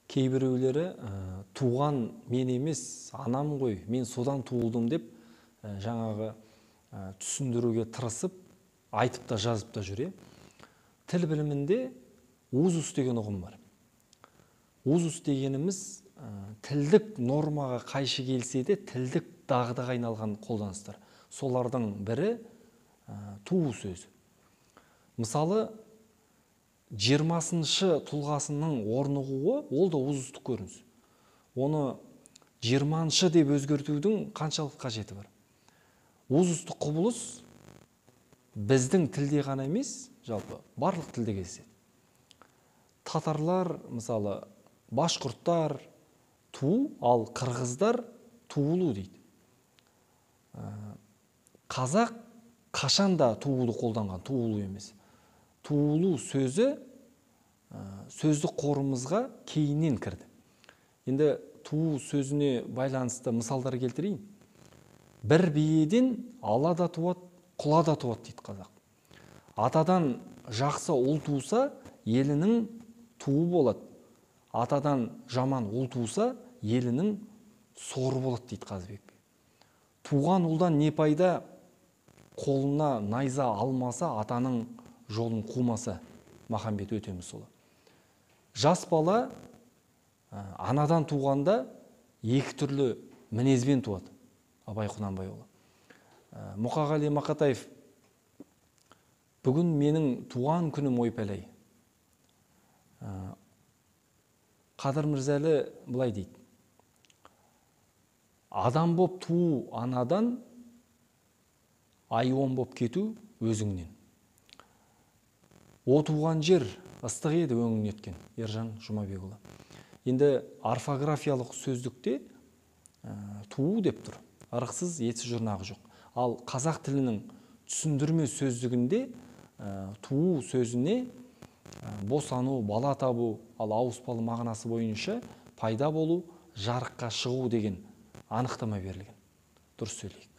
Кээ бирөөлөрү тууган мен эмес, анам ғой, мен содан туулдум деп жаңагы түшүндүрүүгө тырысып, айтып да жазып да жүр. Тил билиминде узус деген угум бар. Узус дегенimiz тилдик нормага кайшы келсе де тилдик дагдыга айналган колданыстар. Солардын бири туу сөзү. Мисалы 20-шы тулгасынын орнугуу ол да узустук көрүнүш. Оны 20-шы деп өзгөртүүнүн канчалык кажети бар? Узустук кубулуш биздин тилде гана эмес, жалпы барлык тилде кездешет. Татарлар, мисалы, башкурттар туу, ал кыргыздар туулуу дейт. Казак кашанда туулу колданган, туулуу эмес. Туулуу сөзү сөздүк корумузга кейинен кирди. Энди туу сөзүнө байланыштуу мисалдар келтирейин. Бир бийеден ала да туат, кула да туат дейт казак. Атадан жакшы ул тууса, элинин туу болот. Атадан жаман ул тууса, элинин сору болот дейт Казыбек. Тууган улдан не пайда? Колуна найза алмаса, атанын жолун куумаса, Махамбет Өтемисұлы. Жас бала анадан тууганда эки түрлүү минезбен туат. Абай Кунанбайұлы. Мукагали Макатаев: бүгүн менин туган күнүм ойпелей. Кадыр Мырзалы былай дейт: адам боп туу анадан, айуан боп кетүү өзүңнен. О тууган жер ыстык эди өңүң неткен. Ержан Жумабекұлы. Енді орфографиялык сөздүктө туу деп тур. Ырыксыз, этсиз журнагы жок. Ал казак тилинин түшүндүрмө сөздүгүндө туу сөзүнө босануу, бала табуу, ал ауыспалы мағынасы боюнча пайда болуу, жарыкка чыгуу деген аныктама берилген. Дурус сөйлейик.